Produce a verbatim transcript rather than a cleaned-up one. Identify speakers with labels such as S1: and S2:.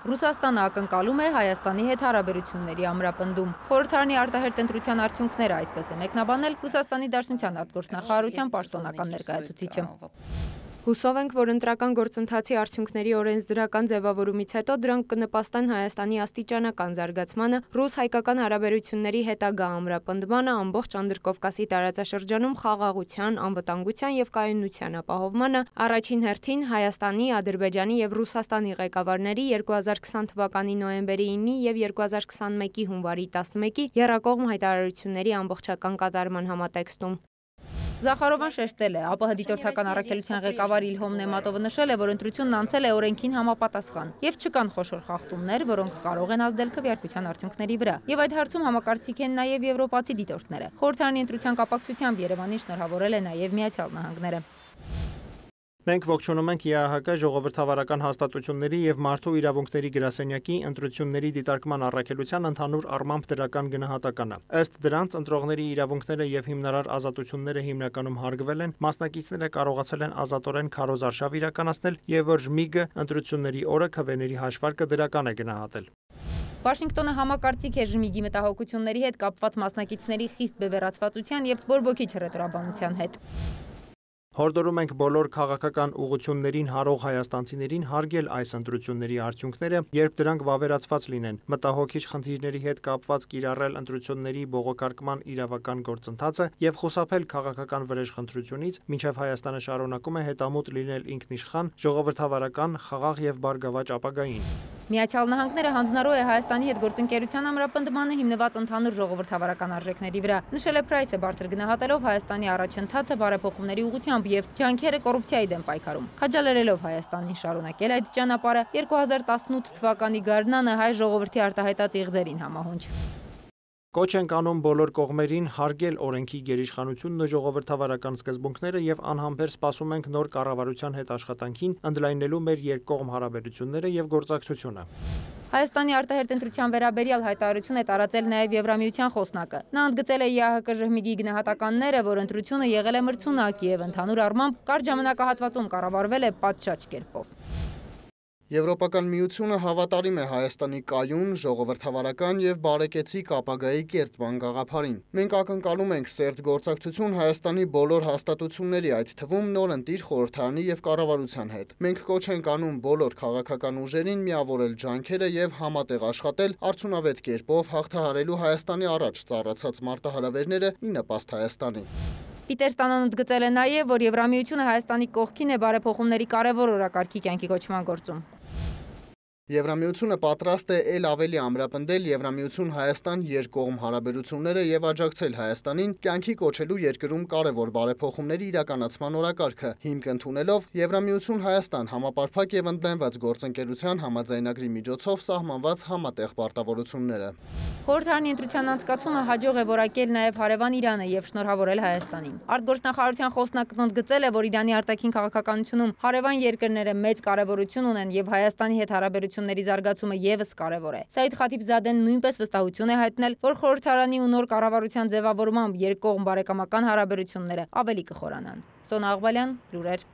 S1: Ռուսաստանը ակնկալում է Հայաստանի հետ հարաբերությունների ամրապնդում։ Խորհրդարանի արտահերթ ընտրության արդյունքները այսպես է մեկնաբանել Ռուսաստանի Դաշնության արտգործնախարարության պաշտոնական ներկայացուցիչը։
S2: Հուսով ենք, որ ընտրական գործընթացի արդյունքների օրենսդրական ձևավորումից հետո դրանք կնպաստեն Հայաստանի աստիճանական զարգացմանը, ռուս-հայկական հարաբերությունների հետագա ամրապնդմանը, ամբողջ Անդրկովկասի տարածաշրջանում խաղաղության, անվտանգության և կայունության ապահովմանը, առաջին հերթին Հայաստանի, Ադրբեջանի և Ռուսաստանի ղեկավարների երկու հազար քսան թվականի նոյեմբերի ինի և երկու հազար քսանմեկի հունվարի տասնմեկի եռակողմ հայտարարությունների ամբողջական կատարման համատեքստում։
S1: Զախարովան շեշտել է, ԱՊՀ դիտորդական առաքելության ղեկավար Իլհոմ Նեմատովը նշել է, որ ընտրությունն անցել է օրենքին համապատասխան եւ չկան խոշոր խախտումներ, որոնք կարող են ազդել քվեարկության արդյունքների վրա։ Եվ այդ հարցում համակարծիք են նաեւ եվրոպացի դիտորդները։ Խորհրդարանի ընտրության կապակցությամբ Երևանին շնորհավորել է նաեւ Միացյալ Նահանգները։
S3: Մենք ողջունում ենք ԵԱՀԿ ժողովրդավարական հաստատությունների և մարդու իրավունքների գրասենյակի ընտրությունների դիտարկման առաքելության ընդհանուր առմամբ դրական գնահատականը։ Ըստ դրանց ընտրողների իրավունքները և հիմնարար ազատությունները հիմնականում հարգվել են, մասնակիցները կարողացել են ազատորեն քարոզարշավ իրականացնել և որ ԺՄԻԳ-ը ընտրությունների օրը քվեների հաշվարկը դրական է գնահատել։
S1: Վաշինգտոնը համակարծիք է ԺՄԻԳ-ի մտահոգությունների հետ կապված մասնակիցների խիստ բևեռացվածության և բորբոքի չռետրաբանության հետ։
S3: Հորդորում ենք բոլոր քաղաքական ուղղություններին հարող հայաստանցիներին հարգել այս ընտրությունների արդյունքները, երբ դրանք վավերացված լինեն, մտահոգիչ խնդիրների հետ կապված կիրառել ընտրությունների բողոքարկման իրավական գործընթացը և խուսափել քաղաքական վրեժխնդրությունից, մինչև Հայաստանը շարունակում է հետամուտ լինել ինքնիշխան, ժողովրդավարական, խաղաղ և բարգավաճ ապագային։
S1: Միացյալ Նահանգները հանձնառու է Հայաստանի հետ գործընկերության ամրապնդմանը հիմնված ընդհանուր ժողովրդավարական արժեքների վրա։ Նշել է Փրայսը բարձր գնահատելով Հայաստանի առաջընթացը բարեփոխումների ուղղությամբ և ջանքերը կոռուպցիայի դեմ պայքարում։ Քաջալերելով Հայաստանին շարունակել այդ ճանապարհը երկու հազար տասնութ թվականի գարնանը հայ ժողովրդի արտահայտած իղձերին համահունչ։
S3: Կոչ ենք անում բոլոր կողմերին հարգել օրենքի գերիշխանությունն ու ժողովրդավարական սկզբունքները և անհամբեր սպասում ենք նոր կառավարության հետ աշխատանքին, ընդլայնելու մեր երկկողմ հարաբերությունները և գործակցությունը։
S1: Հայաստանի արտահերթ ընտրության վերաբերյալ հայտարարություն է տարածել նաև Եվրամիության խոսնակը։ Նա ընդգծել է ԵԱՀԿ ԺՄԻԳ-ի գնահատականները, որ ընտրությունը եղել է մրցունակ և ընդհանուր առմամբ կարճ ժամանակահատվածում կառավարվել է պատշաճ կերպով։
S4: Եվրոպական միությունը հավատարիմ է Հայաստանի կայուն, ժողովրդավարական և բարեկեցիկ ապագայի կերտման գաղափարին։ Մենք ակնկալում ենք սերտ գործակցություն Հայաստանի բոլոր հաստատությունների, այդ թվում նորընտիր խորհրդարանի և կառավարության հետ։ Մենք կոչ ենք անում բոլոր քաղաքական ուժերին միավորել ջանքերը և համատեղ աշխատել արդյունավետ կերպով հաղթահարելու Հայաստանի առաջ ծառացած մարտահրավերները ի նպաստ Հայաստանի։
S1: Պիտեր Ստանոն ընդգծել է նաև, որ Եվրամիությունը Հայաստանի կողքին է բարեփոխումների կարևոր օրակարգի կյանքի կոչման գործում։
S4: Եվրամիությունը պատրաստ է էլ ավելի ամրապնդել Եվրամիություն-Հայաստան երկկողմ հարաբերությունները և աջակցել Հայաստանին կյանքի կոչելու երկրում կարևոր բարեփոխումների իրականացման օրակարգը, հիմք ընդունելով Եվրամիություն-Հայաստան համապարփակ և ընդլայնված գործընկերության համաձայնագրի միջոցով սահմանված համատեղ պարտավորությունները։
S1: Խորհրդարանի ընտրության անցկացումը հաջող է որակել նաև հարևան Իրանը և շնորհավորել Հայաստանին։ Արտգործնախարարության խոսնակն ընդգծել է, որ Իրանի արտաքին քաղաքականությունում հարևան երկրները մեծ կարևորություն ունեն և Հայաստանի հետ հարաբերությունների զարգացումը ևս կարևոր է։ Սաիդ Խաթիբզադեն նույնպես վստահություն է հայտնել, որ խորհրդարանի ու նոր կառավարության ձևավորմամբ երկկողմ բարեկամական հարաբերությունները ավելի կխորանան։ Սոնա Աղբալյան, լուրեր։